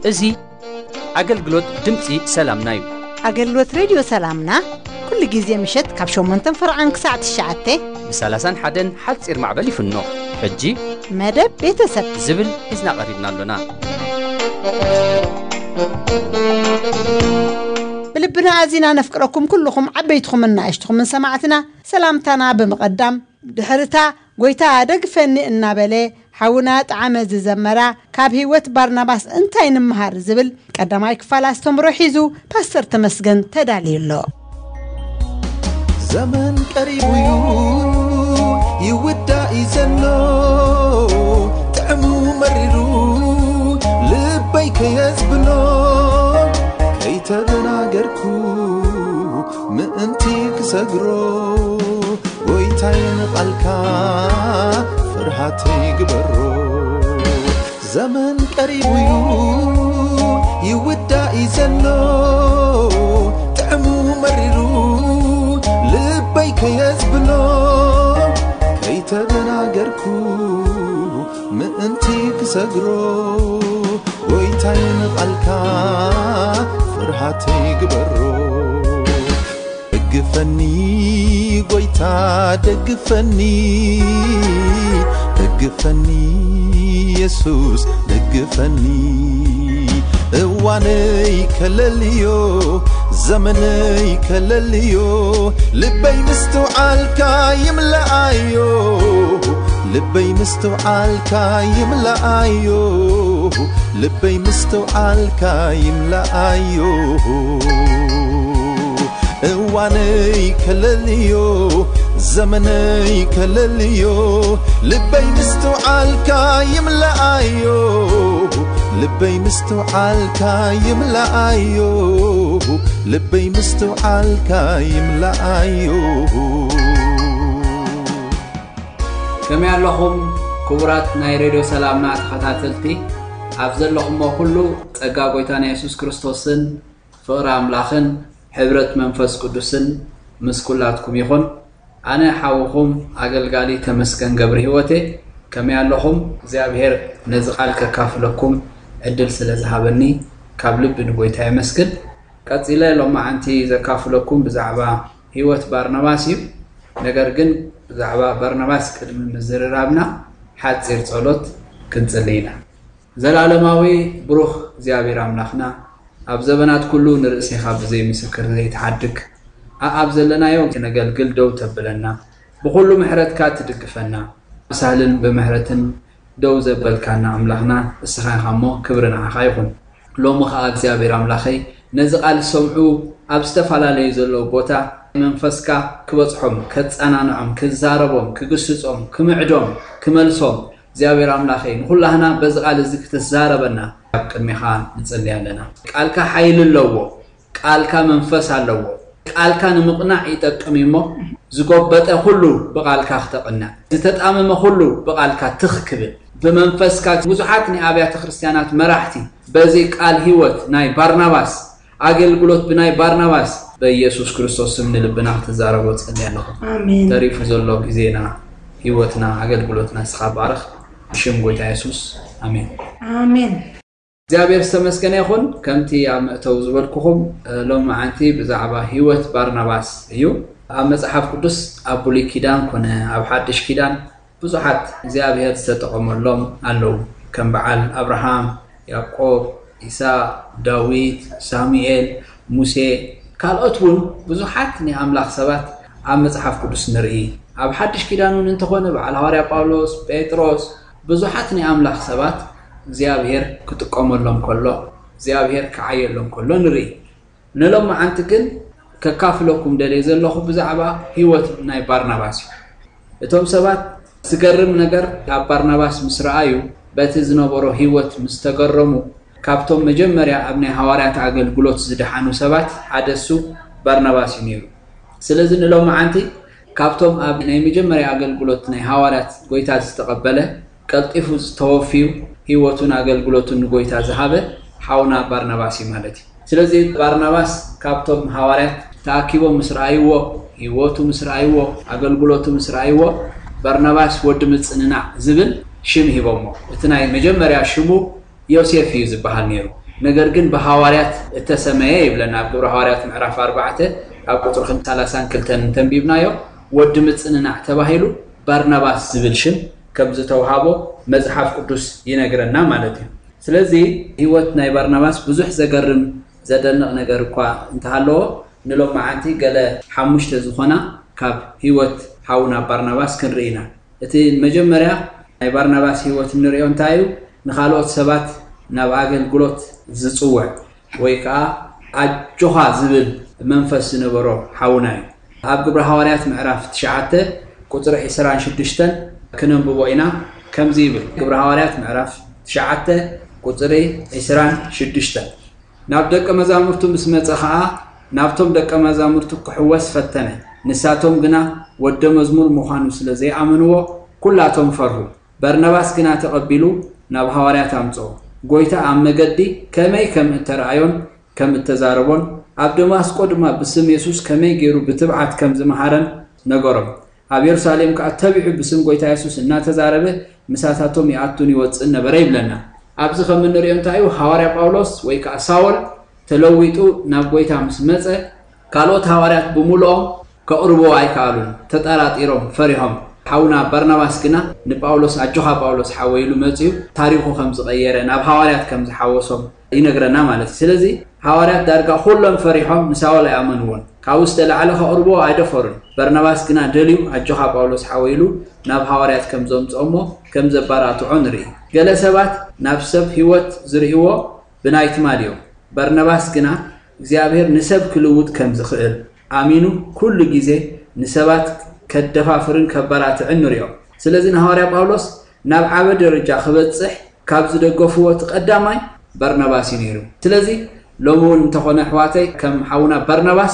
እዚ ኣገልግሎት ድምፂ ሰላምና እዩ። ኣገልግሎት ሬድዮ ሰላምና ኩሉ ግዜ ምሸት ካብ ሸሞንተን ፈርዓን ክሳዕ ትሽዓተ ብ ሰላሳን ሓደን ሓፂር ማዕበል ይፍኖ። ሕጂ መደብ ቤተሰብ ዝብል ሒዝና ቀሪብና ኣሎና። ብልብና ኣዚና ነፍቅረኩም ኩልኹም ዓበይትኹምን ንኣሽትኹምን ሰማዕትና ሰላምታና ብምቕዳም ድሕርታ ጎይታ ደግፈኒ እናበለ ሓውና ጣዕመ ዝዘመራ ካብ ህይወት ባርናባስ እንታይ ንምሃር ዝብል ቀዳማይ ክፋል ኣስተምሮ ሒዙ ፓስተር ተመስገን ተዳልዩ ኣሎ። ዘመን ቀሪቡ እዩ ይውዳእ እዩ ዘሎ ጥዕሙ መሪሩ ልበይ ከየዝብሎ ከይተደናገርኩ ምእንቲ ክሰግሮ ጎይታይ ንቓልካ ፍርሃተይ ግበሮ ዘመን ቀሪቡ እዩ ይውዳእ እዩ ዘሎ ጥዕሙ መሪሩ ልበይ ከየዝብሎ ከይተደናገርኩ ምእንቲ ክሰግሮ ጎይታይ ንቓልካ ፍርሃተይ ግበሮ ደግፈኒ ጎይታ ደግፈኒ ደግፈኒ የሱስ ደግፈኒ እዋነይ ከለልዮ ዘመነይ ከለልዮ ልበይ ምስትውዓልካ ይምለኣዮ ልበይ ምስትውዓልካ ይምለኣዮ ልበይ ምስትውዓልካ ይምለኣዮ እዋነይ ከለልዮ ዘመነይ ከለልዮ ልበይ ምስትውዓልካ ይምለኣዮ ልበይ ምስትውዓልካ ይምለኣዮ ልበይ ምስትውዓልካ ይምለኣዮ ከመይ ኣለኹም ክቡራት ናይ ሬድዮ ሰላምና ተኸታተልቲ ኣብ ዘለኹሞ ኩሉ ጸጋ ጎይታና የሱስ ክርስቶስን ፍቕሪ ኣምላኽን ሕብረት መንፈስ ቅዱስን ምስ ኩላትኩም ይኹን ኣነ ሓውኹም ኣገልጋሊ ተመስገን ገብረ ህይወቴ ከመይ ኣለኹም እግዚኣብሔር ነዚ ቃል ከካፍለኩም ዕድል ስለ ዝሃበኒ ካብ ልቢ ንጎይታ የመስግን ቀጺለ ሎማዓንቲ ዘካፍለኩም ብዛዕባ ህይወት ባርናባስ እዩ ነገር ግን ብዛዕባ ባርናባስ ቅድሚ ምዝርራብና ሓጺር ጸሎት ክንጽሊ ኢና ዘላለማዊ ብሩኽ እግዚኣብሔር ኣምላኽና ኣብ ዘበናት ኩሉ ንርእሴኻ ብዘይ ምስክር ዘይትሓድግ ኣኣብ ዘለናዮ ክነገልግል ደው ተብለና ብኹሉ ምሕረትካ ትድግፈና ብሳህልን ብምሕረትን ደው ዘበልካና ኣምላኽና እስኻ ኢኻ እሞ ክብሪ ንዓኻ ይኹን ሎሚ ኸዓ እግዚኣብሔር ኣምላኸይ ነዚ ቃል ዝሰምዑ ኣብ ዝተፈላለዩ ዘለዉ ቦታ መንፈስካ ክበጽሖም ከጸናንዖም ክዛረቦም ክግስጾም ክምዕዶም ክመልሶም እግዚኣብሔር ኣምላኸይ ንኹላህና በዚ ቃል እዚ ክትዛረበና ኣብ ቅድሜኻ ንጽሊ ኣለና ቃልካ ሓይሊ ኣለዎ ቃልካ መንፈስ ኣለዎ ቃልካ ንምቕናዕ ይጠቅም እሞ ዝጎበጠ ኩሉ ብቃልካ ክተቕንዕ ዝተጣመመ ኩሉ ብቃልካ ትኽ ክብል ብመንፈስካ ብዙሓት ናይ ኣብያተ ክርስትያናት መራሕቲ በዚ ቃል ህይወት ናይ ባርናባስ ኣገልግሎት ብናይ ባርናባስ በኢየሱስ ክርስቶስ ስም ንልብና ክትዛረቦ ጸልየ ኣለኹ ኣሜን ተሪፉ ዘሎ ግዜና ህይወትና ኣገልግሎትና ስኻ ባርኽ ብሽም ጎይታ የሱስ ኣሜን ኣሜን እግዚኣብሔር ዝተመስገነ ይኹን ከምቲ ኣብ መእተው ዝበልኩኹም ሎም መዓንቲ ብዛዕባ ህይወት ባርናባስ እዩ ኣብ መፅሓፍ ቅዱስ ኣብ ብሉይ ኪዳን ኮነ ኣብ ሓድሽ ኪዳን ብዙሓት እግዚኣብሔር ዝተጠቐመሎም ኣለዉ ከም በዓል ኣብርሃም ያዕቆብ ኢሳቅ ዳዊት ሳሙኤል ሙሴ ካልኦት እውን ብዙሓት ናይ ኣምላኽ ሰባት ኣብ መፅሓፍ ቅዱስ ንርኢ ኣብ ሓድሽ ኪዳን እውን እንተኾነ በዓል ሃዋርያ ጳውሎስ ጴጥሮስ ብዙሓት ናይ ኣምላኽ ሰባት እግዚኣብሔር ክጥቀመሎም ከሎ እግዚኣብሔር ክዓየሎም ከሎ ንርኢ ንሎም መዓንቲ ግን ከካፍለኩም ደልየ ዘለኹ ብዛዕባ ህይወት ናይ ባርናባስ እዩ እቶም ሰባት ዝገርም ነገር ኣብ ባርናባስ ምስ ረኣዩ በቲ ዝነበሮ ህይወት ምስ ተገረሙ ካብቶም መጀመርያ ኣብ ናይ ሃዋርያት ኣገልግሎት ዝደሓኑ ሰባት ሓደ እሱ ባርናባስ እዩ ነይሩ ስለዚ ንሎም መዓንቲ ካብቶም ኣብ ናይ መጀመርያ ኣገልግሎት ናይ ሃዋርያት ጎይታ ዝተቐበለ ቀልጢፉ ዝተወፍዩ፣ ህይወቱን ኣገልግሎቱን ንጎይታ ዝሃበ ሓውና ባርናባስ እዩ ማለት እዩ። ስለዚ ባርናባስ ካብቶም ሃዋርያት ተኣኪቦም ምስ ረኣይዎ፣ ህይወቱ ምስ ረኣይዎ፣ ኣገልግሎቱ ምስ ረኣይዎ፣ ባርናባስ ወዲ ምጽንናዕ ዝብል ሽም ሂቦሞ። እቲ ናይ መጀመርያ ሽሙ ዮሴፍ እዩ ዝበሃል ነይሩ። ነገር ግን ብሃዋርያት እተሰመየ ይብለና። ኣብ ግብረ ሃዋርያት ምዕራፍ ኣርባዕተ ኣብ ቁጽሪ ሰላሳን ክልተን እንተንቢብናዮ፣ ወዲ ምጽንናዕ ተባሂሉ ባርናባስ ዝብል ሽም ከም ዝተውሃቦ መጽሓፍ ቅዱስ ይነግረና ማለት እዩ። ስለዚ ህይወት ናይ ባርናባስ ብዙሕ ዘገርም፣ ዘደንቕ ነገር እኳ እንተሃለዎ፣ ንሎማዓንቲ ገለ ሓሙሽተ ዝኾና ካብ ህይወት ሓውና ባርናባስ ክንርኢ ኢና። እቲ መጀመርያ ናይ ባርናባስ ህይወት እንርእዮ እንታይ እዩ? ንኻልኦት ሰባት ናብ ኣገልግሎት ዝጽውዕ ወይ ከኣ ኣጆኻ ዝብል መንፈስ ዝነበሮ ሓውና እዩ። ኣብ ግብረ ሃዋርያት ምዕራፍ ትሽዓተ ቁጽሪ ዕስራን ሽዱሽተን ክነንብቦ ኢና። ከምዚ ይብል፣ ግብረ ሃዋርያት ምዕራፍ ትሽዓተ ቁጽሪ ዕስራን ሽዱሽተን፣ ናብ ደቀ መዛሙርቱ ምስ መጸ ኸኣ፣ ናብቶም ደቀ መዛሙርቱ ክሕወስ ፈተነ። ንሳቶም ግና ወደ መዝሙር ምዃኑ ስለ ዘይኣመንዎ፣ ኩላቶም ፈርሁ። በርናባስ ግና ተቐቢሉ ናብ ሃዋርያት ኣምጽኦ። ጎይታ ኣብ መገዲ ከመይ ከም እተረኣዮን ከም እተዛረቦን፣ ኣብ ደማስቆ ድማ ብስም የሱስ ከመይ ገይሩ ብትብዓት ከም ዝመሃረን ነገሮም። ኣብ የሩሳሌም ከኣ ተቢዑ ብስም ጎይታ የሱስ እናተዛረበ ምሳታቶም ይኣቱን ይወጽእን ነበረ ይብለና። ኣብዚ ከም እንርእዮ እንታይ እዩ? ሃዋርያ ጳውሎስ ወይ ከኣ ሳውል ተለዊጡ ናብ ጎይታ ምስ መጸ፣ ካልኦት ሃዋርያት ብምልኦም ከቕርብዎ ኣይከኣሉን። ተጠራጢሮም፣ ፈሪሖም። ሓውና በርናባስ ግና ንጳውሎስ፣ "ኣጆኻ ጳውሎስ ሓወይ" ኢሉ መጺኡ ታሪኹ ከም ዝቐየረ፣ ናብ ሃዋርያት ከም ዝሓወሶም ይነግረና ማለት እዩ። ስለዚ ሃዋርያት ዳርጋ ኩሎም ፈሪሖም ንሳውል ኣይኣመንዎን። ካብኡ ዝተላዕለ ከቕርብዎ ኣይደፈሩን። በርናባስ ግና ደልዩ "ኣጆኻ ጳውሎስ ሓወይ" ኢሉ ናብ ሃዋርያት ከም ዘምጽኦሞ ከም ዘባራትዖ ንርኢ። ገለ ሰባት ናብ ሰብ ህይወት ዝርእይዎ ብናይ ትማል እዮም። በርናባስ ግና እግዚኣብሔር ንሰብ ክልውጥ ከም ዝኽእል ኣሚኑ ኩሉ ግዜ ንሰባት ከደፋፍርን ከበራትዕን ንሪኦ። ስለዚ ንሃዋርያ ጳውሎስ ናብ ዓበ ደረጃ ክበጽሕ ካብ ዝደገፍዎ እቲ ቀዳማይ በርናባስ እዩ ነይሩ። ስለዚ ሎሚ እውን እንተኾነ ኣሕዋተይ ከም ሓውና በርናባስ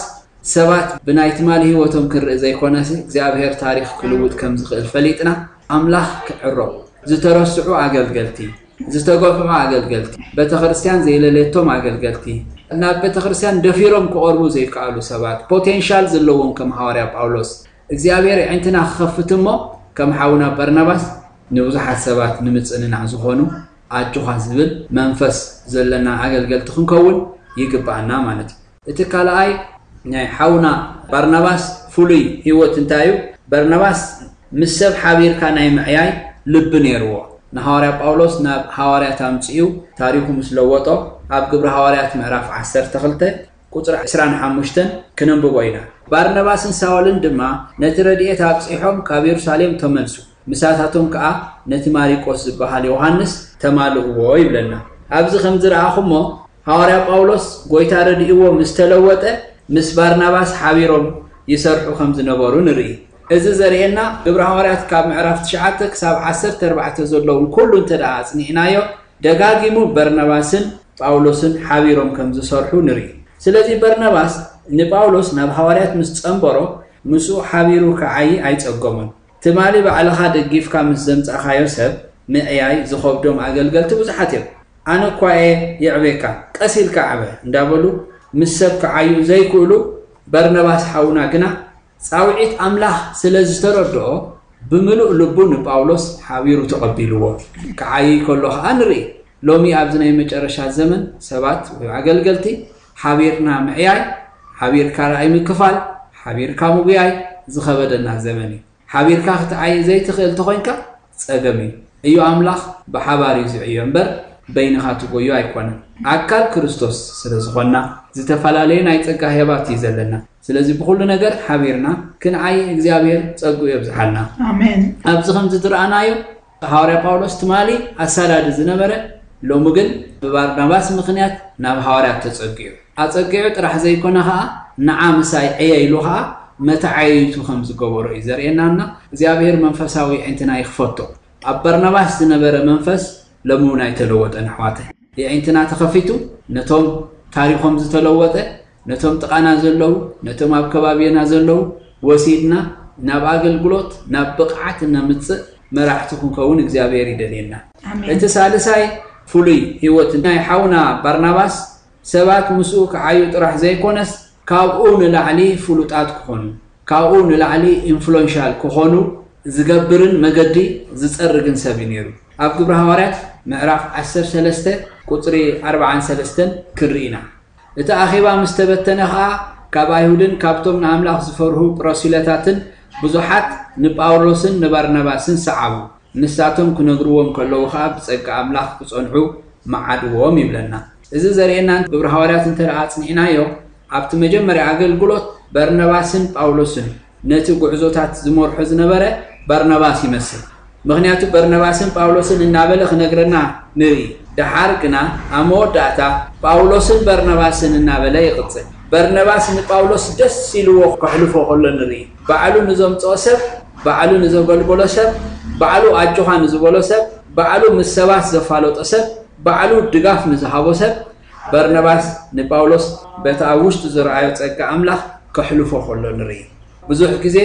ሰባት ብናይ ትማሊ ህይወቶም ክንርኢ ዘይኮነሲ እግዚኣብሔር ታሪኽ ክልውጥ ከም ዝኽእል ፈሊጥና ኣምላኽ ክዕረቑ ዝተረስዑ ኣገልገልቲ ዝተገፍዑ ኣገልገልቲ፣ ቤተክርስትያን ዘይለለየቶም ኣገልገልቲ፣ ናብ ቤተክርስትያን ደፊሮም ክቐርቡ ዘይከኣሉ ሰባት፣ ፖቴንሻል ዘለዎም ከም ሃዋርያ ጳውሎስ እግዚኣብሔር ኣዒንትና ክኸፍት እሞ ከም ሓውና በርናባስ ንብዙሓት ሰባት ንምጽንናዕ ዝኾኑ ኣጆኻ ዝብል መንፈስ ዘለና ኣገልገልቲ ክንከውን ይግብኣና ማለት እዩ። እቲ ካልኣይ ናይ ሓውና ባርናባስ ፍሉይ ህይወት እንታይ እዩ? በርናባስ ምስ ሰብ ሓቢርካ ናይ ምዕያይ ልቢ ነይርዎ። ንሃዋርያ ጳውሎስ ናብ ሃዋርያት ኣምጺኡ ታሪኹ ምስ ለወጦ ኣብ ግብሪ ሃዋርያት ምዕራፍ ዓሰርተ ክልተ ቁጽሪ ዕስራን ሓሙሽተን ክነንብቦ ኢና። ባርናባስን ሳውልን ድማ ነቲ ረድኤት ኣብጺሖም ካብ የሩሳሌም ተመልሱ። ምሳታቶም ከኣ ነቲ ማሪቆስ ዝበሃል ዮሃንስ ተማልእዎ ይብለና። ኣብዚ ከም ዝረኣኹሞ ሃዋርያ ጳውሎስ ጎይታ ረድእዎ ምስ ተለወጠ ምስ ባርናባስ ሓቢሮም ይሰርሑ ከም ዝነበሩ ንርኢ። እዚ ዘርእየና ግብረ ሃዋርያት ካብ ምዕራፍ ትሽዓተ ክሳብ ዓሰርተ ኣርባዕተ ዘለውን ኩሉ እንተ ደኣ ኣጽኒዕናዮ ደጋጊሙ በርናባስን ጳውሎስን ሓቢሮም ከም ዝሰርሑ ንርኢ። ስለዚ በርናባስ ንጳውሎስ ናብ ሃዋርያት ምስ ጸንበሮ ምስኡ ሓቢሩ ክዓዪ ኣይጸገሞን። ትማሊ ባዕልኻ ደጊፍካ ምስ ዘምጻእካዮ ሰብ ምዕያይ ዝኸብዶም ኣገልገልቲ ብዙሓት እዮም። ኣነ እኳ እየ የዕቤካ፣ ቀስ ኢልካ ዕበ እንዳበሉ ምስ ሰብ ክዓዩ ዘይክእሉ፣ በርነባስ ሓውና ግና ጻውዒት ኣምላኽ ስለ ዝተረድኦ ብምሉእ ልቡ ንጳውሎስ ሓቢሩ ተቐቢልዎ። ክዓይይ ከሎ ኸኣ ንርኢ። ሎሚ ኣብዚ ናይ መጨረሻ ዘመን ሰባት ወይ ኣገልገልቲ ሓቢርና ምዕያይ፣ ሓቢርካ ራእይ ምክፋል፣ ሓቢርካ ምጉያይ ዝኸበደና ዘመን እዩ። ሓቢርካ ክትዓይ ዘይትኽእል ተኾይንካ ጸገም እዩ። እዩ ኣምላኽ ብሓባር እዩ ዝዕዮ እምበር በይንኻ ትጎዮ ኣይኮነን። ኣካል ክርስቶስ ስለ ዝኾንና ዝተፈላለየ ናይ ጸጋ ህያባት እዩ ዘለና። ስለዚ ብኹሉ ነገር ሓቢርና ክንዓይ እግዚኣብሔር ጸግኡ የብዝሓልና። ኣሜን። ኣብዚ ከምዚ ዝረኣናዮ ሃዋርያ ጳውሎስ ትማሊ ኣሳዳዲ ዝነበረ ሎሚ ግን ብባርናባስ ምኽንያት ናብ ሃዋርያት ተጸጊዑ። ኣጸጊዑ ጥራሕ ዘይኮነ ኸኣ ንዓ ምሳይ ዕየ ኢሉ ኸኣ መተዓየይቱ ከም ዝገበሮ እዩ ዘርእየናና። እግዚኣብሔር መንፈሳዊ ኣዒንትና ይኽፈቶ። ኣብ በርናባስ ዝነበረ መንፈስ ሎሚ እውን ኣይተለወጠን ኣሕዋተይ። የዒንትና ተኸፊቱ ነቶም ታሪኾም ዝተለወጠ፣ ነቶም ጥቓና ዘለዉ፣ ነቶም ኣብ ከባቢና ዘለዉ ወሲድና ናብ ኣገልግሎት፣ ናብ ብቕዓት እነምጽእ መራሕቲ ክንከውን እግዚኣብሔር ይደልየና። ኣሜን። እቲ ሳልሳይ ፍሉይ ህይወት ናይ ሓውና ባርናባስ ሰባት ምስኡ ክዓዩ ጥራሕ ዘይኮነስ ካብኡ ንላዕሊ ፍሉጣት ክኾኑ፣ ካብኡ ንላዕሊ ኢንፍሉዌንሻል ክኾኑ ዝገብርን መገዲ ዝጸርግን ሰብ እዩ ነይሩ። ኣብ ግብረ ሃዋርያት ምዕራፍ ዓሰርተ ሰለስተ ቁጽሪ ኣርባዓን ሰለስተን ክንርኢ ኢና። እቲ ኣኼባ ምስ ተበተነ ኸኣ ካብ ኣይሁድን ካብቶም ንኣምላኽ ዝፈርሁ ጵሮሲለታትን ብዙሓት ንጳውሎስን ንባርናባስን ሰዓቡ። ንሳቶም ክነግርዎም ከለዉ ኸኣ ብጸጋ ኣምላኽ ክጸንዑ መዓድዎም ይብለና። እዚ ዘርእየና ግብረ ሃዋርያት እንተ ደኣ ኣጽኒዕናዮ ኣብቲ መጀመርያ ኣገልግሎት በርነባስን ጳውሎስን ነቲ ጉዕዞታት ዝመርሖ ዝነበረ በርነባስ ይመስል። ምኽንያቱ በርነባስን ጳውሎስን እናበለ ክነግረና ንርኢ። ደሓር ግና ኣብ መወዳእታ ጳውሎስን በርነባስን እናበለ ይቕጽል። በርነባስ ንጳውሎስ ደስ ኢልዎ ከሕልፎ ከሎ ንርኢ። ባዕሉ ንዘምጽኦ ሰብ፣ ባዕሉ ንዘገልገሎ ሰብ፣ ባዕሉ ኣጆኻ ንዝበሎ ሰብ፣ ባዕሉ ምስ ሰባት ዘፋለጦ ሰብ፣ ባዕሉ ድጋፍ ንዝሃቦ ሰብ በርነባስ ንጳውሎስ በቲ ኣብ ውሽጡ ዝረኣዮ ጸጋ ኣምላኽ ከሕልፎ ከሎ ንርኢ። ብዙሕ ግዜ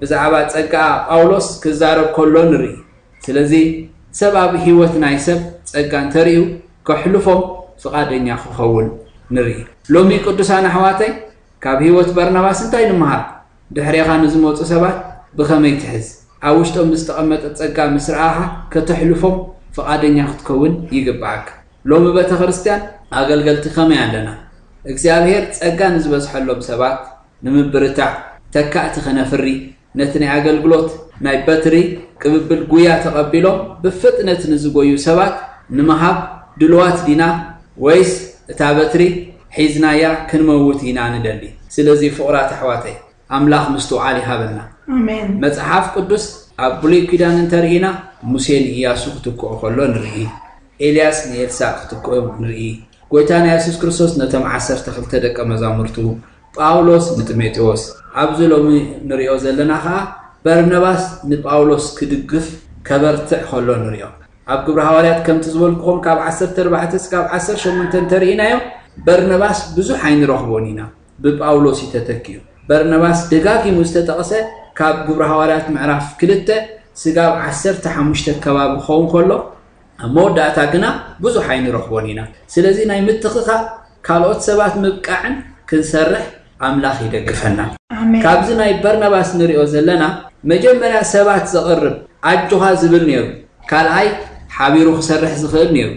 ብዛዕባ ጸጋ ጳውሎስ ክዛረብ ከሎ ንርኢ። ስለዚ ሰብ ኣብ ህይወት ናይ ሰብ ጸጋ እንተርእዩ ከሕልፎም ፍቓደኛ ክኸውን ንርኢ። ሎሚ ቅዱሳን ኣሕዋተይ ካብ ህይወት በርናባስ እንታይ ንምሃር? ድሕሬኻ ንዝመጹ ሰባት ብኸመይ ትሕዝ? ኣብ ውሽጦም ብዝተቐመጠ ጸጋ ምስ ረኣኻ ከተሕልፎም ፍቓደኛ ክትከውን ይግብኣካ። ሎሚ ቤተ ክርስቲያን ኣገልገልቲ ከመይ ኣለና? እግዚኣብሔር ጸጋ ንዝበዝሐሎም ሰባት ንምብርታዕ ተካእቲ ከነፍሪ ነቲ ናይ ኣገልግሎት ናይ በትሪ ቅብብል ጉያ ተቐቢሎም ብፍጥነት ንዝጎዩ ሰባት ንምሃብ ድልዋት ዲና ወይስ እታ በትሪ ሒዝናያ ክንመውት ኢና ንደሊ? ስለዚ ፍቑራት ኣሕዋተይ ኣምላኽ ምስትውዓል ይሃበና። ኣሜን። መጽሓፍ ቅዱስ ኣብ ብሉይ ኪዳን እንተርኢና ሙሴ ንኢያሱ ክትክኦ ከሎ ንርኢ። ኤልያስ ንኤልሳዕ ክትክኦ ንርኢ። ጎይታና የሱስ ክርስቶስ ነቶም ዓሰርተ ክልተ ደቀ መዛሙርቱ፣ ጳውሎስ ንጢሞቴዎስ፣ ኣብዚ ሎሚ ንሪኦ ዘለና ኸኣ በርነባስ ንጳውሎስ ክድግፍ ከበርትዕ ከሎ ንሪኦ። ኣብ ግብሪ ሃዋርያት ከምቲ ዝበልኩኹም ካብ ዓሰርተ ኣርባዕተ እስካብ ዓሰርተ ሸሞንተ እንተርኢናዮ በርነባስ ብዙሕ ኣይንረኽቦን ኢና። ብጳውሎስ እዩ ተተኪኡ። በርነባስ ደጋጊሙ ዝተጠቕሰ ካብ ግብሪ ሃዋርያት ምዕራፍ ክልተ ስጋብ ዓሰርተ ሓሙሽተ ከባቢ ክኸውን ከሎ ኣብ መወዳእታ ግና ብዙሕ ኣይንረኽቦን ኢና። ስለዚ ናይ ምትኽኻእ ካልኦት ሰባት ምብቃዕን ክንሰርሕ ኣምላኽ ይደግፈና። ኣሜን። ካብዚ ናይ በርናባስ ንሪኦ ዘለና መጀመርያ ሰባት ዘቕርብ ኣጆኻ ዝብል ነይሩ። ካልኣይ ሓቢሩ ክሰርሕ ዝኽእል ነይሩ።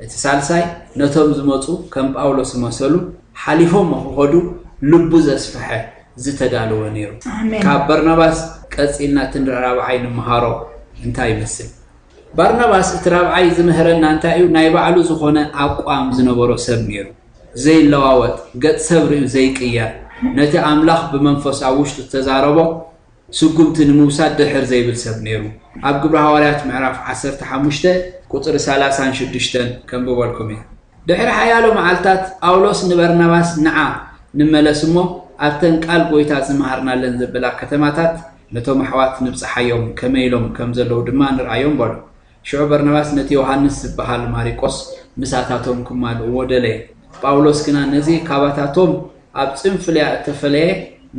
እቲ ሳልሳይ ነቶም ዝመፁ ከም ጳውሎስ ዝመሰሉ ሓሊፎም ክኸዱ ልቡ ዘስፍሐ ዝተዳለወ ነይሩ። ኣሜን። ካብ በርናባስ ቀፂልና እቲ ራብዓይ ንምሃሮ እንታይ ይመስል? ባርናባስ እቲ ራብዓይ ዝምህረና እንታይ እዩ? ናይ ባዕሉ ዝኾነ ኣቋም ዝነበሮ ሰብ ነይሩ። ዘይለዋወጥ፣ ገጽ ሰብ ርእዩ ዘይቅየር፣ ነቲ ኣምላኽ ብመንፈስ ኣብ ውሽጡ ዝተዛረቦ ስጉምቲ ንምውሳድ ድሕር ዘይብል ሰብ ነይሩ። ኣብ ግብሪ ሃዋርያት ምዕራፍ ዓሰርተ ሓሙሽተ ቁጽሪ ሰላሳን ሽዱሽተን ከንብበልኩም እየ። ድሕሪ ሓያሎ መዓልታት ጳውሎስ ንበርናባስ ንዓ ንመለስ እሞ ኣብተን ቃል ጎይታ ዝመሃርናለን ዘበላ ከተማታት ነቶም ኣሕዋት ንብጽሓዮም ከመይ ኢሎም ከም ዘለዉ ድማ ንርኣዮም በሎ። ሽዑ በርናባስ ነቲ ዮሃንስ ዝበሃል ማሪቆስ ምሳታቶም ክማልእዎ ደለየ። ጳውሎስ ግና ነዚ ካባታቶም ኣብ ጽንፍልያ እተፈለየ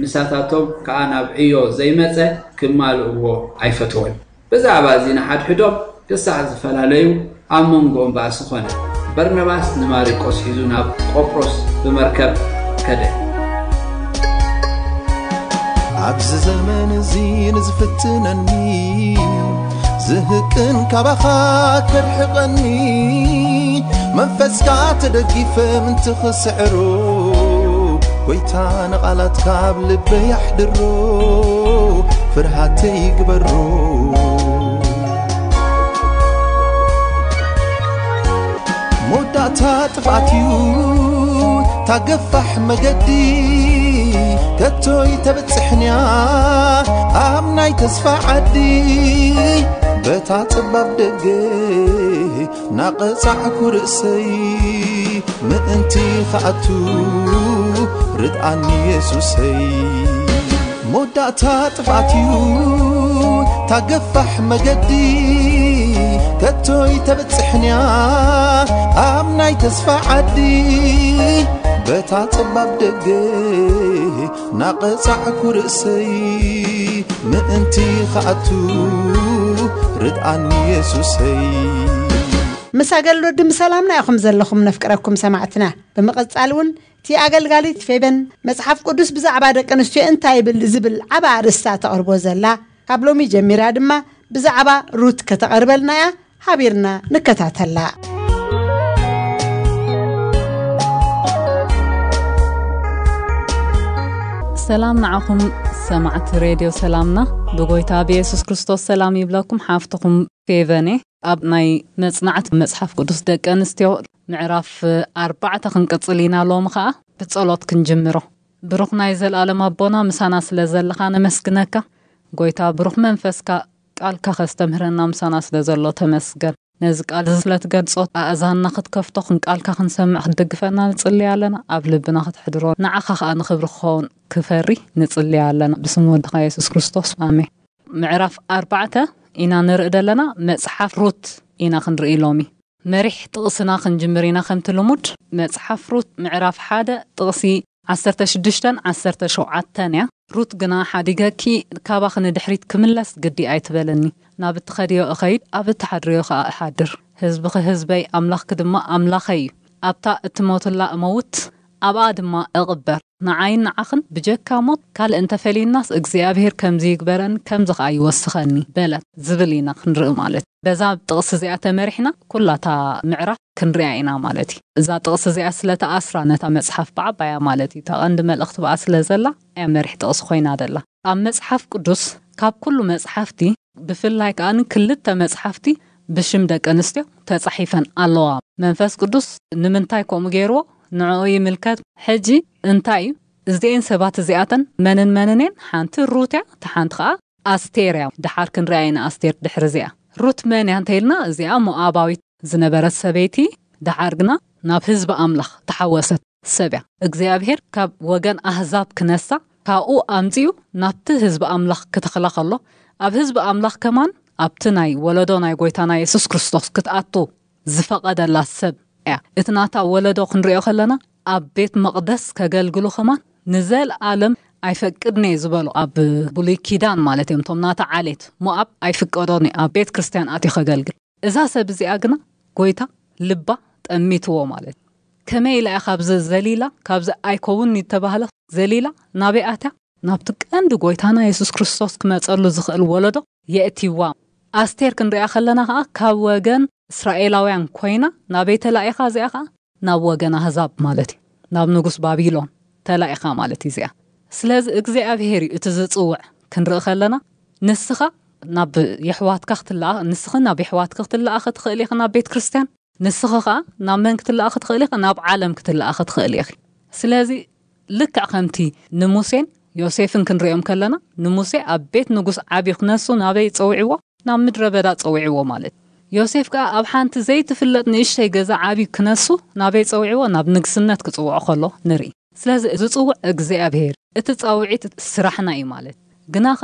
ምሳታቶም ከኣ ናብ ዕዮ ዘይመጸ ክማልእዎ ኣይፈተወን። ብዛዕባ እዚ ንሓድሕዶም ክሳዕ ዝፈላለዩ ኣብ መንጎኦም ባእሲ ኾነ። በርናባስ ንማሪቆስ ሒዙ ናብ ቆጵሮስ ብመርከብ ከደ። ኣብዚ ዘመን እዚ ንዝፍትነኒ ዝህቅን ካባኻ ከርሕቐኒ መንፈስካ ተደጊፈ ምንቲ ክስዕሮ ጎይታ ንቓላትካ ኣብ ልበይ ኣሕድሮ ፍርሃተይ ግበሮ መወዳእታ ጥፍኣት እዩ ታገፋሕ መገዲ ከቶይ ተበጽሕንያ ኣብ ናይ ተስፋ ዓዲ በታ ጽባብ ደገ ናቐጻዕኩ ርእሰይ ምእንቲ ኸኣቱ ርድኣኒ የሱሰይ መወዳእታ ጥፍኣት እዩ ታገፋሕ መገዲ ከቶይ ተበጽሕንያ ኣብ ናይ ተስፋ ዓዲ በታ ጸባብ ደገ ናቐጻዕኩ ርእሰይ ምእንቲ ኸኣቱ ርድኣኒ የሱሰይ። ምስ ኣገልግሎት ድምፂ ሰላምና ኢኹም ዘለኹም ነፍቅረኩም ሰማዕትና። ብምቕጻል እውን እቲ ኣገልጋሊት ፌበን መጽሓፍ ቅዱስ ብዛዕባ ደቂ ኣንስትዮ እንታይ ይብል ዝብል ዓባ ኣርእስታ ተቕርቦ ዘላ፣ ካብ ሎሚ ጀሚራ ድማ ብዛዕባ ሩት ከተቐርበልና እያ። ሓቢርና ንከታተላ። ሰላም ንዓኹም ሰማዕቲ ሬድዮ ሰላምና፣ ብጎይታ ብየሱስ ክርስቶስ ሰላም ይብለኩም። ሓፍትኹም ፌቨኔ ኣብ ናይ መጽናዕቲ መጽሓፍ ቅዱስ ደቂ ኣንስትዮ ምዕራፍ ኣርባዕተ ክንቅጽል ኢና። ሎሚ ኸኣ ብጸሎት ክንጅምሮ። ብሩኽ ናይ ዘለኣለም ኣቦና፣ ምሳና ስለ ዘለኻ ነመስግነካ። ጎይታ ብሩኽ መንፈስካ ቃልካ ከስተምህረና ምሳና ስለ ዘሎ ተመስገን። ነዚ ቃል እዚ ስለ ትገልጾ ኣእዛንና ክትከፍቶ፣ ክንቃልካ ክንሰምዕ ክትድግፈና ንጽሊ ኣለና። ኣብ ልብና ክትሕድሮ፣ ንዓኻ ኸኣ ንኽብሪ ክኸውን ክፈሪ ንጽሊ ኣለና። ብስም ወድኻ የሱስ ክርስቶስ፣ ኣሜን። ምዕራፍ ኣርባዕተ ኢና ንርኢ ዘለና፣ መጽሓፍ ሩት ኢና ክንርኢ ሎሚ። መሪሕ ጥቕስና ክንጅምር ኢና። ከምቲ ልሙድ መጽሓፍ ሩት ምዕራፍ ሓደ ጥቕሲ ዓሰርተ ሽዱሽተን ዓሰርተ ሸውዓተን እያ። ሩት ግና ሓዲገኪ፣ ካባኺ ንድሕሪት ክምለስ ግዲ ኣይትበለኒ። ናብ እትኸድዮ እኸይድ፣ ኣብ እትሓድርዮ ኸኣ እሓድር። ህዝብኺ ህዝበይ፣ ኣምላኽኪ ድማ ኣምላኸይ እዩ። ኣብታ እትሞትላ እመውት፣ ኣብኣ ድማ እቕበር። ንዓይን ንዓኽን ብጀካ ሞት ካልእ እንተፈሊዩናስ፣ እግዚኣብሄር ከምዚ ይግበረኒ፣ ከምዚ ኸኣ ይወስኸኒ በለት ዝብል ኢና ክንርኢ ማለት እዩ። በዛ ጥቕሲ እዚኣ ተመሪሕና ኩላታ ምዕራፍ ክንሪኣ ኢና ማለት እዩ። እዛ ጥቕሲ እዚኣ ስለ ተኣስራ ነታ መጽሓፍ ብዓባያ ማለት እዩ፣ እታ ቀንዲ መልእኽቲ ብኣ ስለ ዘላ እያ መሪሕ ጥቕሲ ኮይና ደላ። ኣብ መጽሓፍ ቅዱስ ካብ ኩሉ መጽሓፍቲ ብፍላይ ከኣ ክልተ መጽሓፍቲ ብሽም ደቂ ኣንስትዮ ተጻሒፈን ኣለዋ። መንፈስ ቅዱስ ንምንታይ ከምኡ ገይርዎ ንዕኡ ይምልከት። ሕጂ እንታይ እዩ? እዚኤን ሰባት እዚኣተን መንን መንን እየን? ሓንቲ ሩት እያ፣ እታ ሓንቲ ከኣ ኣስቴር እያ። ደሓር ክንሪኣ ኢና ኣስቴር ድሕሪ እዚኣ። ሩት መን እያ እንተኢልና፣ እዚኣ ሞኣባዊት ዝነበረት ሰበይቲ፣ ደሓር ግና ናብ ህዝቢ ኣምላኽ ተሓወሰት ሰብ እያ። እግዚኣብሄር ካብ ወገን ኣህዛብ ክነሳ፣ ካብኡ ኣምጺኡ ናብቲ ህዝቢ ኣምላኽ ክተኽላ ከሎ፣ ኣብ ህዝቢ ኣምላኽ ከማን ኣብቲ ናይ ወለዶ ናይ ጎይታና የሱስ ክርስቶስ ክትኣቱ ዝፈቐደላ ሰብ እያ። እቲ ናታ ወለዶ ክንሪኦ ከለና፣ ኣብ ቤት መቕደስ ከገልግሉ ከማን ንዘለኣለም ኣይፈቅድን እየ ዝበሉ፣ ኣብ ብሉይ ኪዳን ማለት እዮም፣ እቶም ናታ ዓሌት ሞኣብ ኣይፍቀዶን እዩ ኣብ ቤት ክርስቲያን ኣትዩ ከገልግል። እዛ ሰብ እዚኣ ግና ጎይታ ልባ ጠሚትዎ ማለት እዩ። ከመይ ኢላ እያ ካብዚ ዘሊላ፣ ካብዚ ኣይከውን ዝተባህለ ዘሊላ ናበይ ኣትያ? ናብቲ ቀንዲ ጎይታና የሱስ ክርስቶስ ክመጸሉ ዝኽእል ወለዶ የእትይዋ። ኣስቴር ክንሪኣ ከለና ኸኣ ካብ ወገን እስራኤላውያን ኮይና ናበይ ተላኢኻ? እዚኣ ኸኣ ናብ ወገን ኣህዛብ ማለት እዩ፣ ናብ ንጉስ ባቢሎን ተላኢኻ ማለት እዩ እዚኣ። ስለዚ እግዚኣብሄር እዩ እቲ ዝጽውዕ። ክንርኢ ከለና ንስኻ ናብ የሕዋትካ ክትለኣ፣ ንስኺ ናብ የሕዋትኪ ክትለኣኺ ትኽእሊ ኢኺ ናብ ቤት ክርስቲያን፣ ንስኺ ኸኣ ናብ መን ክትለኣኺ ትኽእሊ ኢኺ? ናብ ዓለም ክትለኣኺ ትኽእሊ ኢኺ። ስለዚ ልክዕ ከምቲ ንሙሴን ዮሴፍን ክንሪኦም ከለና፣ ንሙሴ ኣብ ቤት ንጉስ ዓብዩ ክነሱ ናበይ ጸዊዕዎ? ናብ ምድረ በዳ ጸዊዕዎ ማለት። ዮሴፍ ከኣ ኣብ ሓንቲ ዘይትፍለጥ ንእሽተይ ገዛ ዓብዩ ክነሱ ናበይ ጸዊዕዎ? ናብ ንግስነት ክጽውዖ ከሎ ንርኢ። ስለዚ ዝጽውዕ እግዚኣብሄር፣ እቲ ጻውዒት ስራሕና እዩ ማለት። ግናኸ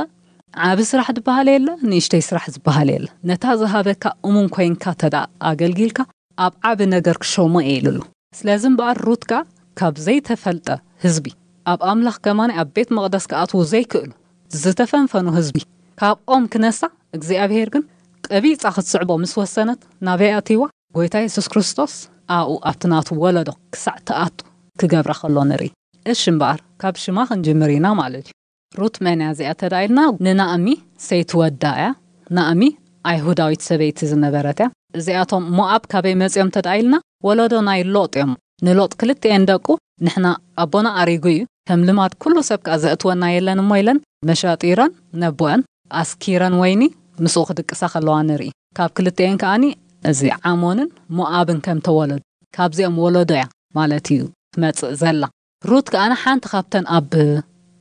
ዓቢ ስራሕ ዝበሃል የለ፣ ንእሽተይ ስራሕ ዝበሃል የለ። ነታ ዝሃበካ እሙን ኮይንካ ተዳ ኣገልጊልካ፣ ኣብ ዓቢ ነገር ክሸሞ እየ ኢሉሉ። ስለዚ እምበኣር ሩት ከኣ ካብ ዘይተፈልጠ ህዝቢ፣ ኣብ ኣምላኽ ከማን ኣብ ቤት መቕደስ ክኣትዉ ዘይክእሉ ዝተፈንፈኑ ህዝቢ፣ ካብኦም ክነሳ እግዚኣብሄር ግን ቀቢጻ ክትስዕቦ ምስ ወሰነት፣ ናበይ ኣትይዋ? ጎይታ የሱስ ክርስቶስ ኣብኡ ኣብቲ ናቱ ወለዶ ክሳዕ ትኣቱ ክገብራ ከሎ ንርኢ። እሺ እምበኣር ካብ ሽማ ክንጅምር ኢና ማለት እዩ። ሩት መን እያ እዚኣ ተዳ ኢልና፣ ንናእሚ ሰይቲ ወዳ እያ። ናእሚ ኣይሁዳዊት ሰበይቲ ዝነበረት እያ። እዚኣቶም ሞኣብ ካበይ መጺኦም ተዳ ኢልና፣ ወለዶ ናይ ሎጥ እዮም። ንሎጥ ክልቲኤን ደቁ፣ ንሕና ኣቦና ኣሪጉ እዩ፣ ከም ልማድ ኩሉ ሰብ ከኣ ዘእትወና የለን እሞ ኢለን መሻጢረን ነቦአን ኣስኪረን ወይኒ ምስኡ ክድቅሳ ከለዋ ንርኢ። ካብ ክልቲኤን ከኣኒ እዚ ዓሞንን ሞኣብን ከም ተወለዱ ካብዚኦም ወለዶ እያ ማለት እዩ ትመጽእ ዘላ። ሩት ከኣኒ ሓንቲ ካብተን ኣብ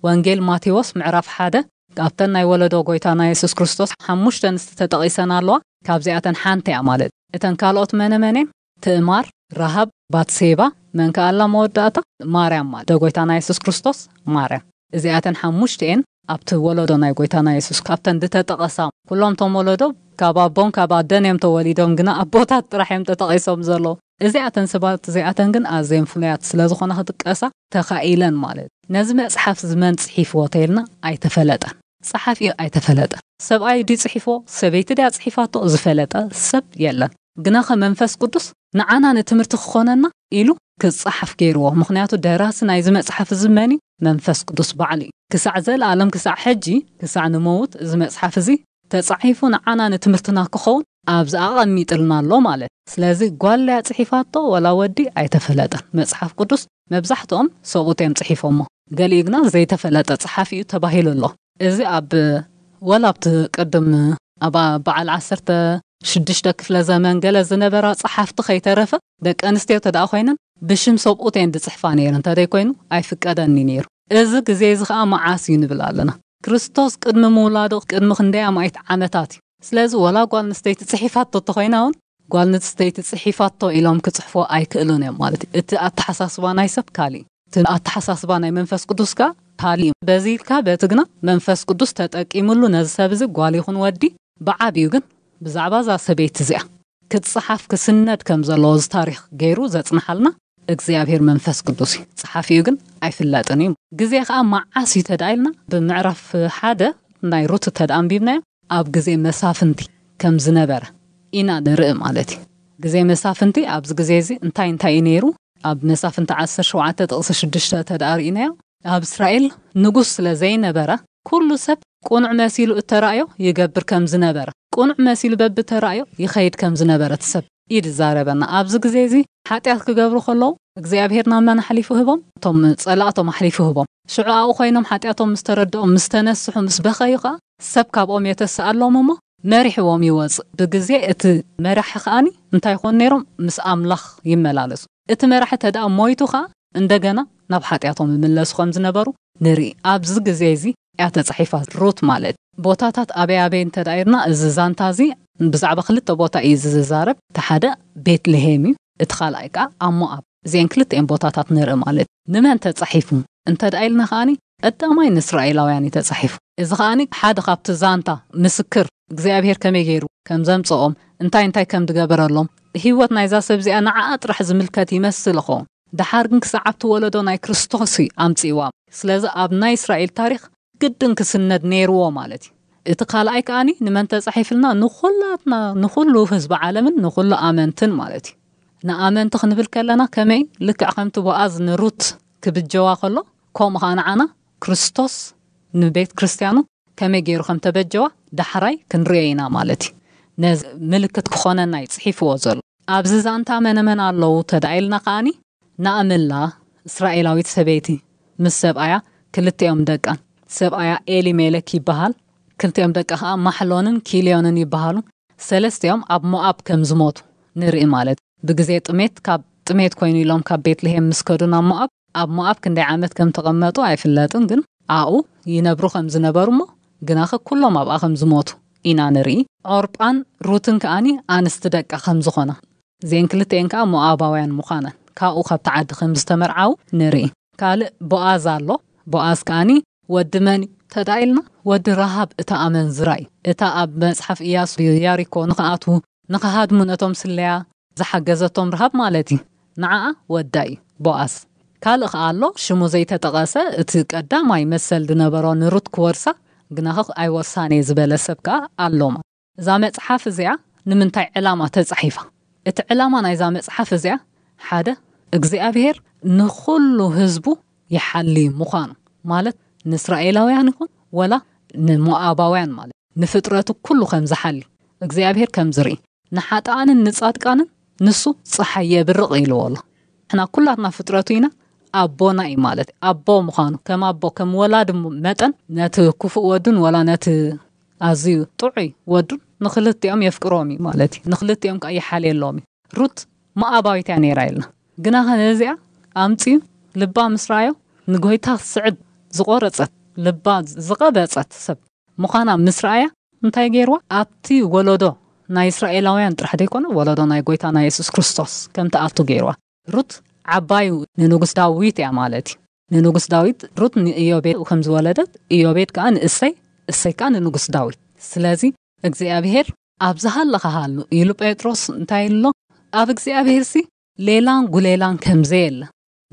ወንጌል ማቴዎስ ምዕራፍ ሓደ ካብተን ናይ ወለዶ ጎይታና የሱስ ክርስቶስ ሓሙሽተ ኣንስቲ ተጠቒሰን ኣለዋ። ካብዚኣተን ሓንቲ እያ ማለት። እተን ካልኦት መነ መን እየን? ትእማር፣ ረሃብ፣ ባትሴባ፣ መን ከኣላ መወዳእታ ማርያም ማለት ዶ ጎይታና የሱስ ክርስቶስ ማርያም። እዚኣተን ሓሙሽተ እየን ኣብቲ ወለዶ ናይ ጎይታና የሱስ ካብተን ዝተጠቐሳ። ኩሎም እቶም ወለዶ ካብ ኣቦን ካብ ኣደን እዮም ተወሊዶም፣ ግና ኣቦታት ጥራሕ እዮም ተጠቒሶም ዘለዉ። እዚኣተን ሰባት እዚኣተን ግን ኣዝየን ፍሉያት ስለ ዝኾና ክጥቀሳ ተኻኢለን ማለት። ነዚ መጽሓፍ እዚ መን ጽሒፍዎ ተይልና ኣይተፈለጠን። ጸሓፊኡ ኣይተፈለጠን። ሰብኣይ ድዩ ጽሒፎ፣ ሰበይቲ ድያ ጽሒፋቶ ዝፈለጠ ሰብ የለን። ግናኸ መንፈስ ቅዱስ ንዓና ንትምህርቲ ክኾነና ኢሉ ክጸሓፍ ገይርዎ። ምኽንያቱ ደራሲ ናይዚ መጽሓፍ እዚ መን እዩ? መንፈስ ቅዱስ ባዕሉ እዩ። ክሳዕ ዘለኣለም፣ ክሳዕ ሕጂ፣ ክሳዕ ንመውት እዚ መጽሓፍ እዚ ተጻሒፉ ንዓና ንትምህርትና ክኸውን ኣብዚ ኣቐሚጥልና ኣሎ ማለት። ስለዚ ጓል እያ ጽሒፋቶ ወላ ወዲ ኣይተፈለጠን። መጽሓፍ ቅዱስ መብዛሕትኦም ሰብኡት እዮም ጽሒፎሞ። ገሊኡ ግና ዘይተፈለጠ ጸሓፊ እዩ ተባሂሉ ኣሎ። እዚ ኣብ ወላ ኣብቲ ቅድም ኣብ በዓል ዓሰርተ ሽዱሽተ ክፍለ ዘመን ገለ ዝነበራ ጸሓፍቲ ከይተረፈ ደቂ ኣንስትዮ ተደኣ ኮይነን ብሽም ሰብኡት እየን ዝጽሕፋ ነይረን። እንተደይ ኮይኑ ኣይፍቀደን እዩ ነይሩ። እዚ ግዜ እዚ ኸኣ መዓስ እዩ ንብል ኣለና። ክርስቶስ ቅድሚ ምውላዱ ቅድሚ ክንደይ ኣማኢት ዓመታት እዩ። ስለዚ ወላ ጓል ኣንስተይቲ ጽሒፋቶ እንተኾይና እውን ጓል ኣንስተይቲ ጽሒፋቶ ኢሎም ክጽሕፎ ኣይክእሉን እዮም ማለት እዩ። እቲ ኣተሓሳስባ ናይ ሰብ ካሊእ እዩ። እቲ ኣተሓሳስባ ናይ መንፈስ ቅዱስ ከኣ ካሊእ እዩ። በዚ ኢልካ በቲ ግና መንፈስ ቅዱስ ተጠቂሙሉ ነዚ ሰብ እዚ ጓል ይኹን ወዲ ብዓቢኡ ግን ብዛዕባ እዛ ሰበይቲ እዚኣ ክጽሓፍ ክስነድ ከም ዘለዎ እዚ ታሪኽ ገይሩ ዘጽንሓልና እግዚኣብሔር መንፈስ ቅዱስ እዩ። ጸሓፊኡ ግን ኣይፍለጥን እዩ። ግዜ ከኣ መዓስ እዩ ተደኣ ኢልና ብምዕራፍ ሓደ ናይ ሩት ተደኣ ኣንቢብናዮ ኣብ ግዜ መሳፍንቲ ከም ዝነበረ ኢና ንርኢ ማለት እዩ። ግዜ መሳፍንቲ ኣብዚ ግዜ እዚ እንታይ እንታይ እዩ ነይሩ? ኣብ መሳፍንቲ ዓሰርተ ሸውዓተ ጥቕሲ ሽዱሽተ ተደኣ ርኢናዮ። ኣብ እስራኤል ንጉስ ስለ ዘይነበረ ኩሉ ሰብ ቁኑዕ መሲሉ እተራእዮ ይገብር ከም ዝነበረ፣ ቁኑዕ መሲሉ በብተራእዮ ይኸይድ ከም ዝነበረ እቲ ሰብ እዩ ዝዛረበና። ኣብዚ ግዜ እዚ ሓጢኣት ክገብሩ ከለዉ እግዚኣብሔር ናብ መን ኣሕሊፉ ህቦም? እቶም ጸላእቶም ኣሕሊፉ ህቦም። ሽዑ ኣብኡ ኮይኖም ሓጢኣቶም ምስ ተረድኦም፣ ምስ ተነስሑ፣ ምስ በኸዩ ከኣ ሰብ ካብኦም የተስኣሎም እሞ መሪሕዎም ይወጽእ። ብግዜ እቲ መራሒ ከኣኒ እንታይ ይኾኑ ነይሮም? ምስ ኣምላኽ ይመላለሱ። እቲ መራሒ ተደኣ ሞይቱ ከኣ እንደገና ናብ ሓጢኣቶም ይምለሱ ከም ዝነበሩ ንርኢ። ኣብዚ ግዜ እዚ እያ ተጻሒፋ ሩት ማለት። ቦታታት ኣበይ ኣበይ እንተ ደኣ ኢልና፣ እዚ ዛንታ እዚ ብዛዕባ ክልተ ቦታ እዩ ዝዛረብ። እቲ ሓደ ቤትልሄም እዩ፣ እቲ ካልኣይ ከኣ ኣብ ሞኣብ። እዚአን ክልተኤን ቦታታት ንርኢ ማለት። ንመን ተጻሒፉ እንተ ደኣ ኢልና ከኣኒ፣ ቀዳማይ ንእስራኤላውያን እዩ ተጻሒፉ። እዚ ከኣኒ ሓደ ካብቲ ዛንታ ምስክር እግዚኣብሔር ከመይ ገይሩ ከም ዘምጽኦም፣ እንታይ እንታይ ከም ዝገበረሎም፣ ህይወት ናይዛ ሰብ እዚኣ ንዓኣ ጥራሕ ዝምልከት ይመስል ይኸውን። ደሓር ግን ክሳዕ ኣብቲ ወለዶ ናይ ክርስቶስ እዩ ኣምጽእዋ። ስለዚ ኣብ ናይ እስራኤል ታሪኽ ግድን ክስነድ ነይርዎ ማለት እዩ። እቲ ካልኣይ ከኣኒ ንመን ተጻሒፍልና? ንኹላትና፣ ንኹሉ ህዝቢ ዓለምን ንኹሉ ኣመንትን ማለት እዩ። ንኣመንቲ ክንብል ከለና ከመይ? ልክዕ ከምቲ ቦኣዝ ንሩት ክብጀዋ ከሎ፣ ከምኡ ኸኣ ንዓና ክርስቶስ ንቤት ክርስትያኑ ከመይ ገይሩ ከም ተበጀዋ ዳሕራይ ክንርእዮ ኢና ማለት እዩ። ነዚ ምልክት ክኾነና እዩ ጽሒፍዎ ዘሎ። ኣብዚ ዛንታ መነመን ኣለዉ ተዳኢልና ከኣኒ፣ ናእምላ እስራኤላዊት ሰበይቲ ምስ ሰብኣያ፣ ክልቲኦም ደቃን። ሰብኣያ ኤሊሜሌክ ይበሃል። ክልቲኦም ደቃ ከኣ ማሕሎንን ኪልዮንን ይበሃሉ። ሰለስቲኦም ኣብ ሞኣብ ከም ዝሞቱ ንርኢ ማለት። ብግዜ ጥሜት፣ ካብ ጥሜት ኮይኑ ኢሎም ካብ ቤትልሄም ምስ ከዱ ናብ ሞኣብ፣ ኣብ ሞኣብ ክንደይ ዓመት ከም ተቐመጡ ኣይፍለጥን፣ ግን ኣብኡ ይነብሩ ከም ዝነበሩ እሞ ግናኸ ኩሎም ኣብኣ ከም ዝሞቱ ኢና ንርኢ። ዖርጳን ሩትን ከኣኒ ኣንስቲ ደቃ ከም ዝኾና፣ እዚአን ክልቲኤን ከኣ ሞኣባውያን ምዃነን፣ ካብኡ ካብቲ ዓዲ ከም ዝተመርዓዉ ንርኢ። ካልእ ቦኣዝ ኣሎ። ቦኣዝ ከኣኒ ወዲ መን እዩ ተዳኢልና? ወዲ ረሃብ እታ ኣመንዝራ እዩ። እታ ኣብ መጽሓፍ ኢያሱ ያሪኮ ንኽኣትዉ፣ ንኽሃድሙ ነቶም ስለያ ዝሓገዘቶም ረሃብ ማለት እዩ። ንዓኣ ወዳ እዩ ቦኣዝ። ካልእ ከኣ ኣሎ፣ ሽሙ ዘይተጠቐሰ፣ እቲ ቀዳማይ መሰል ዝነበሮ ንሩት ክወርሳ፣ ግናኸ ኣይወርሳን እየ ዝበለ ሰብ ከኣ ኣሎ። እዛ መጽሓፍ እዚኣ ንምንታይ ዕላማ ተጻሒፋ? እቲ ዕላማ ናይዛ መጽሓፍ እዚኣ፣ ሓደ፣ እግዚኣብሔር ንኹሉ ህዝቡ ይሓሊ ምዃኑ፣ ማለት ንእስራኤላውያን ይኹን ወላ ንሞኣባውያን፣ ማለት ንፍጥረቱ ኩሉ ከም ዝሓሊ፣ እግዚኣብሔር ከም ዝርኢ፣ ንሓጥኣንን ንጻድቃንን ንሱ ጸሓይ የብርቕ ኢልዎ ኣሎ። ንሕና ኩላትና ፍጥረቱ ኢና፣ ኣቦና እዩ ማለት እዩ። ኣቦ ምዃኑ፣ ከም ኣቦ፣ ከም ወላዲ ም-፣ መጠን ነቲ ክፉእ ወዱን ወላ ነቲ ኣዝዩ ጥዑይ ወዱን ንኽልቲኦም የፍቅሮም እዩ ማለት እዩ። ንኽልቲኦም ከኣ ይሓልየሎም እዩ። ሩት ሞኣባዊት እያ ነይራ ኢልና። ግናኸ ነዚኣ ኣምጺኡ ልባ ምስ ረኣዮ ንጎይታ ክስዕብ ዝቖረጸት፣ ልባ ዝቐበጸት ሰብ ምዃና ምስ ረኣያ እንታይ ገይርዋ? ኣብቲ ወለዶ ናይ እስራኤላውያን ጥራሕ ዘይኮነ ወለዶ ናይ ጎይታና የሱስ ክርስቶስ ከም ትኣቱ ገይርዋ። ሩት ዓባዩ ንንጉስ ዳዊት እያ ማለት እዩ። ንንጉስ ዳዊት ሩት ንኢዮቤድ ከም ዝወለደት፣ ኢዮቤድ ከኣ ንእሰይ፣ እሰይ ከኣ ንንጉስ ዳዊት። ስለዚ እግዚኣብሔር ኣብ ዝሃለኻ ሃሉ ኢሉ ጴጥሮስ እንታይ ኢሉ ኣሎ? ኣብ እግዚኣብሔርሲ ሌላን ጉሌላን ከም ዘየለ፣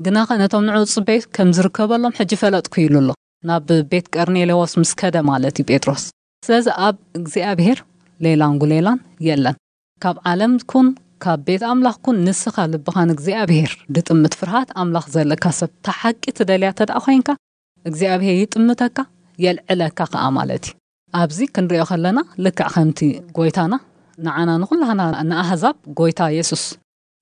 ግናኸ ነቶም ንዕኡ ዝጽበዩ ከም ዝርከበሎም ሕጂ ፈለጥኩ ኢሉ ኣሎ። ናብ ቤት ቀርኔሌዎስ ምስ ከደ ማለት እዩ ጴጥሮስ። ስለዚ ኣብ እግዚኣብሔር ሌላን ጉሌላን የለን። ካብ ዓለም ኩን ካብ ቤት ኣምላኽ ኩን ንስኻ ልብኻ ንእግዚኣብሔር ድጥምት ፍርሃት ኣምላኽ ዘለካ ሰብ ተሓቂ ትደልያ ተደኣ ኮይንካ እግዚኣብሔር ይጥምተካ የልዕለካ ከኣ ማለት እዩ። ኣብዚ ክንሪኦ ከለና ልክዕ ከምቲ ጎይታና ንዓና ንኹላህና ንኣህዛብ ጎይታ የሱስ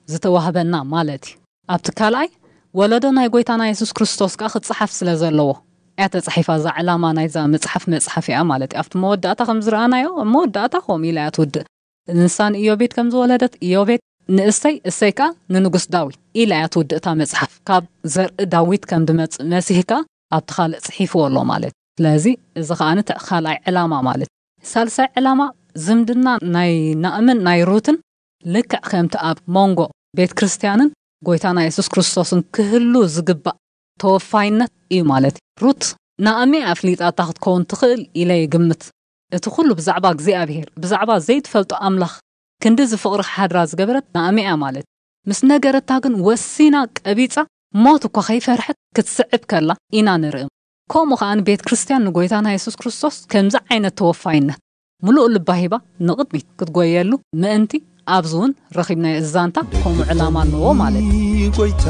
ዝተዋህበና ማለት እዩ። ኣብቲ ካልኣይ ወለዶ ናይ ጎይታና የሱስ ክርስቶስ ከኣ ክጸሓፍ ስለ ዘለዎ እያ ተጻሒፋ። እዛ ዕላማ ናይዛ መጽሓፍ መጽሓፍ እያ ማለት እዩ። ኣብቲ መወዳእታ ከም ዝረኣናዮ ኣብ መወዳእታ ከምኡ ኢላ እያ ትውድእ። ንሳ ንኢዮቤድ ከም ዝወለደት ኢዮቤድ ንእሰይ እሰይ ከኣ ንንጉስ ዳዊት ኢላ እያ ትውድእ እታ መጽሓፍ። ካብ ዘርኢ ዳዊት ከም ድመጽእ መሲህ ከኣ ኣብቲ ካልእ ጽሒፍዎ ኣሎ ማለት እዩ። ስለዚ እዚ ከኣ እቲ ካልኣይ ዕላማ ማለት እዩ። ሳልሳይ ዕላማ ዝምድና ናይ ናእምን ናይ ሩትን ልክዕ ከምቲ ኣብ መንጎ ቤት ክርስቲያንን ጎይታና የሱስ ክርስቶስን ክህሉ ዝግባእ ተወፋይነት እዩ ማለት እዩ። ሩት ናእሚ ኣፍሊጣታ ክትከውን ትኽእል ኢለ ይግምት። እቲ ኩሉ ብዛዕባ እግዚኣብሔር ብዛዕባ ዘይትፈልጦ ኣምላኽ ክንዲ ዝፍቕሪ ሓድራ ዝገበረት ናእሚ እያ ማለት እዩ። ምስ ነገረታ ግን ወሲና ቀቢጻ ሞት እኳ ከይፈርሐት ክትስዕብ ከላ ኢና ንርኢ። ከምኡ ከኣ ቤት ክርስቲያን ንጎይታና የሱስ ክርስቶስ ከምዚ ዓይነት ተወፋይነት ምሉእ ልባ ሂባ ንቕድሚት ክትጎየሉ ምእንቲ ኣብዚ እውን ረኺብናዮ እዚ ዛንታ ከምኡ ዕላማ ኣለዎ ማለት እዩ። ጎይታ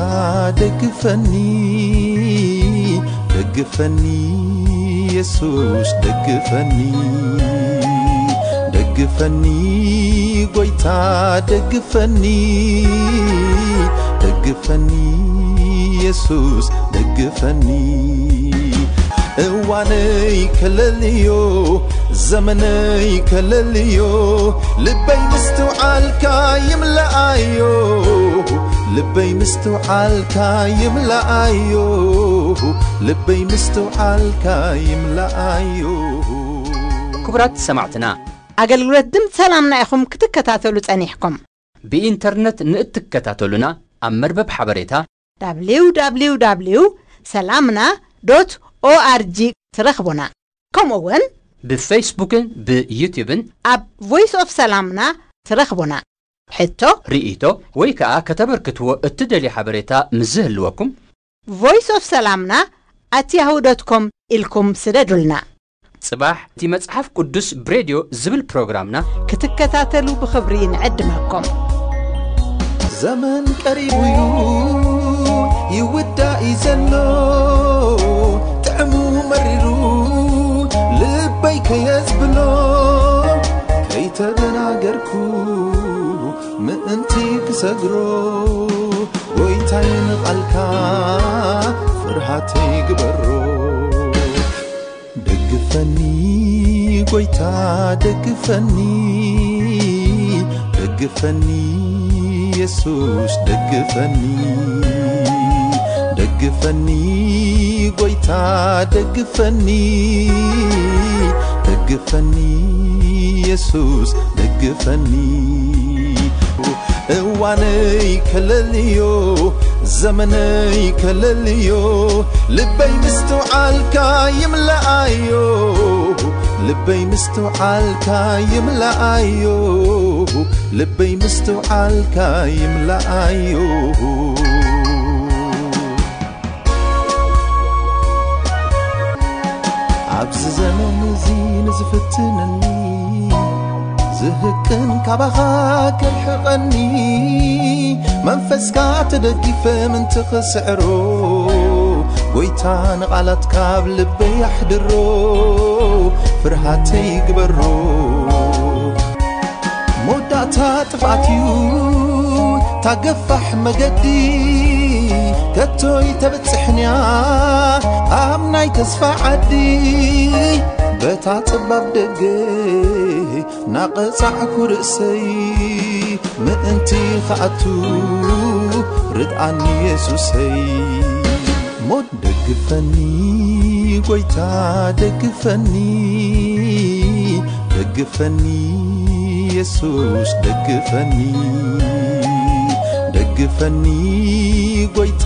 ደግፈኒ፣ ደግፈኒ፣ የሱስ ደግፈኒ፣ ደግፈኒ፣ ጎይታ ደግፈኒ፣ ደግፈኒ፣ የሱስ ደግፈኒ። እዋነይ ከለልዮ፣ ዘመነይ ከለልዮ፣ ልበይ ምስትውዓልካ ይምለኣዮ፣ ልበይ ምስትውዓልካ ይምለኣዮ፣ ልበይ ምስትውዓልካ ይምለኣዮ። ክቡራት ሰማዕትና፣ ኣገልግሎት ድምፂ ሰላምና ኢኹም ክትከታተሉ ጸኒሕኩም። ብኢንተርነት ንእትከታተሉና ኣብ መርበብ ሓበሬታ www ሰላምና ዶት ኦኣርጂ ትረኽቡና። ከምኡ እውን ብፌስቡክን ብዩትዩብን ኣብ ቮይስ ኦፍ ሰላምና ትረኽቡና። ሕቶ፣ ርእይቶ ወይ ከኣ ከተበርክትዎ እትደልዩ ሓበሬታ ምስ ዝህልወኩም ቮይስ ኦፍ ሰላምና ኣት ያሁ ዶት ኮም ኢልኩም ስደዱልና። ጽባሕ እቲ መጽሓፍ ቅዱስ ብሬድዮ ዝብል ፕሮግራምና ክትከታተሉ ብኽብሪ ንዕድመኩም። ዘመን ቀሪቡ እዩ ይውዳእ እዩ ዘሎ፣ ጥዕሙ መሪሩ ልበይ ከየዝብሎ፣ ከይተደናገርኩ ምእንቲ ክሰግሮ፣ ጎይታይ ንቓልካ ፍርሃተይ ግበሮ። ደግፈኒ ጎይታ ደግፈኒ፣ ደግፈኒ የሱስ ደግፈኒ፣ ደግፈኒ ጎይታ ደግፈኒ፣ ደግፈኒ የሱስ ደግፈኒ። እዋነይ ከለልዮ፣ ዘመነይ ከለልዮ፣ ልበይ ምስትውዓልካ ይምለኣዮ፣ ልበይ ምስትውዓልካ ይምለኣዮ፣ ልበይ ምስትውዓልካ ይምለኣዮ። ኣብዚ ዘመን እዚ ንዝፍትነኒ፣ ዝህቅን ካባኻ ከርሕቐኒ፣ መንፈስካ ተደጊፈ ምንቲ ክስዕሮ፣ ጎይታ ንቓላትካ ኣብ ልበይ ኣሕድሮ፣ ፍርሃተይ ግበሮ። መወዳእታ ጥፍኣት እዩ ታገፋሕ መገዲ፣ ከቶይ ተበጽሕንያ ኣብ ናይ ተስፋ ዓዲ፣ በታ ጸባብ ደገ ናቐጻዕኩ ርእሰይ፣ ምእንቲ ኸኣቱ ርድኣኒ የሱሰይ። ሞት ደግፈኒ ጎይታ ደግፈኒ፣ ደግፈኒ የሱስ ደግፈኒ፣ ደግፈኒ ጎይታ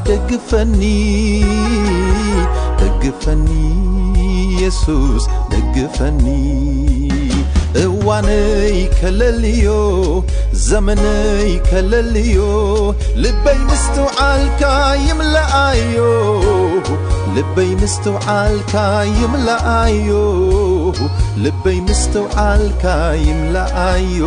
ደግፈኒ፣ ደግፈኒ የሱስ ደግፈኒ። እዋነይ ከለልዮ፣ ዘመነይ ከለልዮ፣ ልበይ ምስትውዓልካ ይምለኣዮ። ልበይ ምስትውዓልካ ይምለኣዮ። ልበይ ምስትውዓልካ ይምለኣዮ።